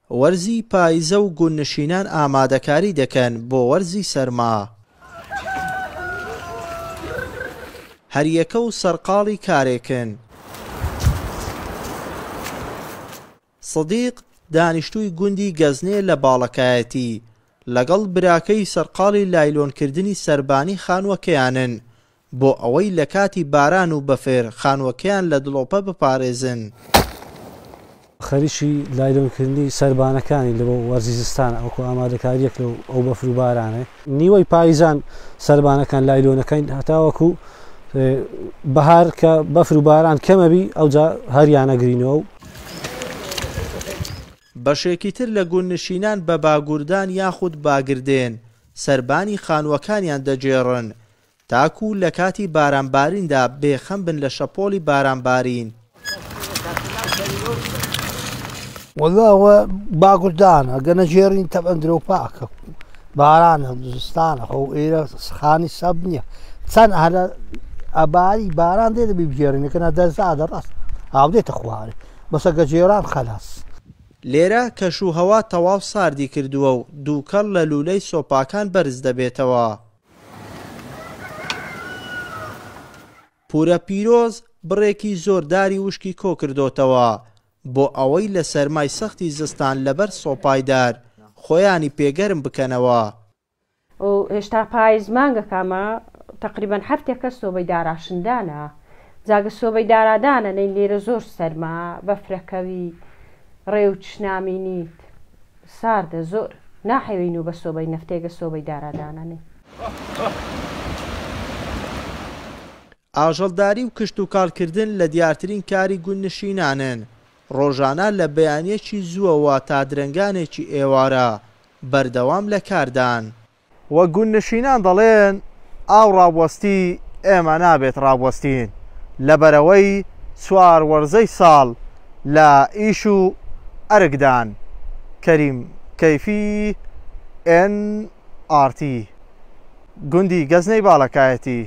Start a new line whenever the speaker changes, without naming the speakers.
وەرزی پایزە و گوندنشینان ئامادەکاری دەکەن بۆ وەرزی سەرما. هەریەکە و سەرقاڵی کارێکن. سدیق، دانیشتووی گوندی گەزنێ لە باڵەکایەتی، لەگەڵ براکەی سەرقاڵی لایلۆنکردنی سەربانی خانووەکەیانن، بۆ ئەوەی لە کاتی باران و بەفر خانووەکەیان لە دڵۆپە بپارێزن.
خەریکی لایلۆنکردنی سەربانەکانی لە بۆ وەرزی زستانە وەکو ئامادەکارییەک لەو ئەو بەفر و بارانەی. نیوەی پایزان سەربانەکان لایلۆنەکەین هەتاوەکو بەهار کە بەفر و باران کەمەبی ئەوجا هەریانەگرینەوە و.
بەشێکی تر لە گوندنشینان بە باگوردان یاخود باگردێن سەربانی خانووەکانیان دەگێڕن تاکو لە کاتی بارانباریندا بێ خەم بن لە شەپۆڵی بارانبارین.
وەڵا ئەوە باگوردانە گە نەگێڕین تەبعەن درۆ پاکە بارانە زستانە خۆ ئێرە خانی سەب نییە چەند هەرە ئەباری باران دێ دەبی بگێڕین کەنا دەرزادە ڕاست ئاو دێتە خوارێ بەسە گەجێران خەلاس.
لێرە کەش و هەوا تەواو ساردی کردووە و دووکەڵ لە لوولەی سۆپاکان بەرز دەبێتەوە. پورە پیرۆز بڕێکی زۆر داری وشکی کۆکردۆتەوە بۆ ئەوەی لە سەرمای سەختی زستان لەبەر سۆپای دار خۆیانی پێ گەرم بکەنەوە.
هێشتا پایز مانگەکامە تەقریبەن هەفتێکە سۆبەی داراشندانە جاگە سۆبەی دارادانە نەی لێرە زۆر سەرما بەفرەکەوی ڕێوچ نامینیت ساردە زۆر ناحەوین و بە سۆبەی نەفتێگە سۆبەی دارادانەنەی.
ئاژەڵداری و کشتوکاڵکردن لە دیارترین کاری گوندنشینانن، ڕۆژانە لە بەیانییەکی زووەوە تا درەنگانێکی ئێوارە بەردەوام لە کاردان. وەک گوندنشینان دەڵێن، ئاو ڕابوەستی ئێمە نابێت ڕابوەستین، لەبەرئەوەی چوار وەرزەی ساڵ لە ئیش و ئەرکدان. کەریم کەیفی، ئێن ئاڕ تی، گوندی گەزنەی باڵەکایەتی.